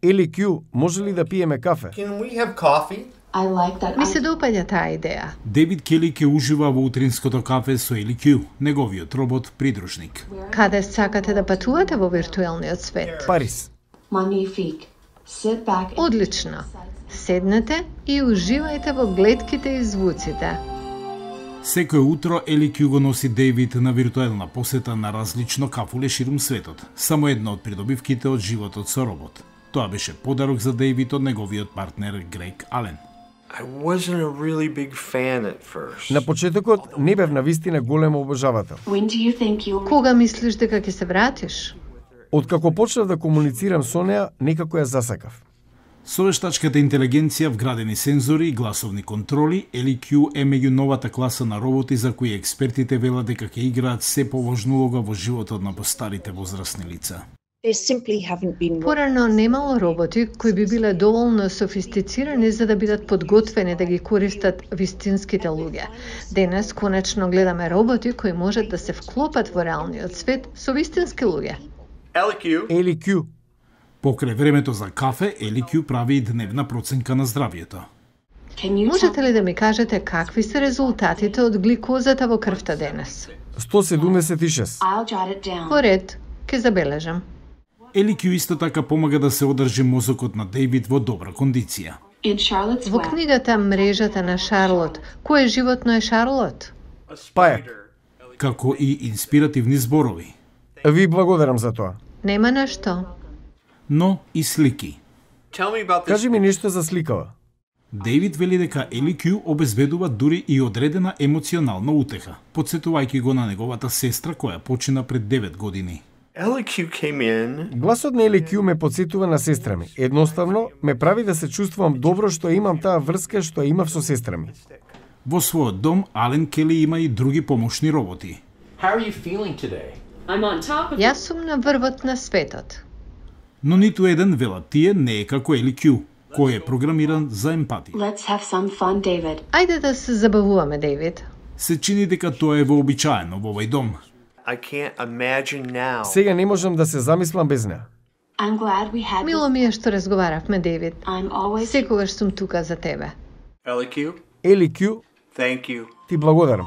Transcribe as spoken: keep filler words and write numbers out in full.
Ели Кју, може ли да пиеме кафе? Can we have coffee? I like that. Ми се допаѓа таа идеја. Дейвид Кели ќе ужива во утринското кафе со Ели Кју, неговиот робот придружник. Каде сакате да патувате во виртуелниот свет? Париз. Magnifique. Sit back and Одлично. Седнете и уживајте во гледките и звуците. Секој утро Ели Кју го носи Дейвид на виртуелна посета на различно кафуле ширум светот. Само една од придобивките од животот со робот. Тоа беше подарок за Дейвид од неговиот партнер Грег Ален. I wasn't a really big fan at first. На почетокот не бев навистина голем обожавател. when do you think you'll Кога мислиш дека ќе се вратиш? Откако почнав да комуницирам со неа, некако ја засакав. Со вештачката интелигенција, вградени сензори и гласовни контроли, Ели Кју е меѓу новата класа на роботи за кои експертите велат дека ќе играат се поважна улога во животот на постарите возрастни лица. There simply haven't been Порано немало роботи кои би биле доволно софистицирани за да бидат подготвени да ги користат вистинските луѓе. Денес конечно гледаме роботи кои можат да се вклопат во реалниот свет со вистински луѓе. Ели Кју. Ели Кју, Покрај времето за кафе, Ели Кју прави и дневна проценка на здравието. can you Можете ли да ми кажете какви се резултатите од гликозата во крвта денес? сто седумдесет и шест. I'll jot it down. По ред, ќе забележам. Ели Кју исто така помага да се одржи мозокот на Дейвид во добра кондиција. In Charlotte's Во Web, книгата Мрежата на Шарлот, кој животно е Шарлот? Пајак. Како и инспиративни зборови, Ви благодарам за тоа. Нема на што. но и слики. Tell me about this. Кажи ми нешто за сликава. Дейвид вели дека Ели Кју обезбедува дури и одредена емоционална утеха, подсетувајќи го на неговата сестра која почина пред девет години. Ели Кјu came in. Гласот на Ели Кју ме потсетува на сестра ми. Едноставно, ме прави да се чувствувам добро што имам таа врска што ја имав со сестра ми. Во својот дом, Ален Кели има и други помошни роботи. How are you feeling today? I'm on top of Јас сум на врвот на светот. Но ниту еден, велат тие, не е како Ели Кју, кој е програмиран за емпатија. let's have some fun, David. Ајде да се забавуваме, Дейвид. Се чини дека тоа е вообичаено во овој дом. I can't imagine now. Сега не можам да се замислам без неа. I'm glad we had Мило this. ми е што разговаравме, Дейвид. I'm always Секогаш сум тука за тебе. Ели Кјu, Ели Кју, thank you. ти благодарам.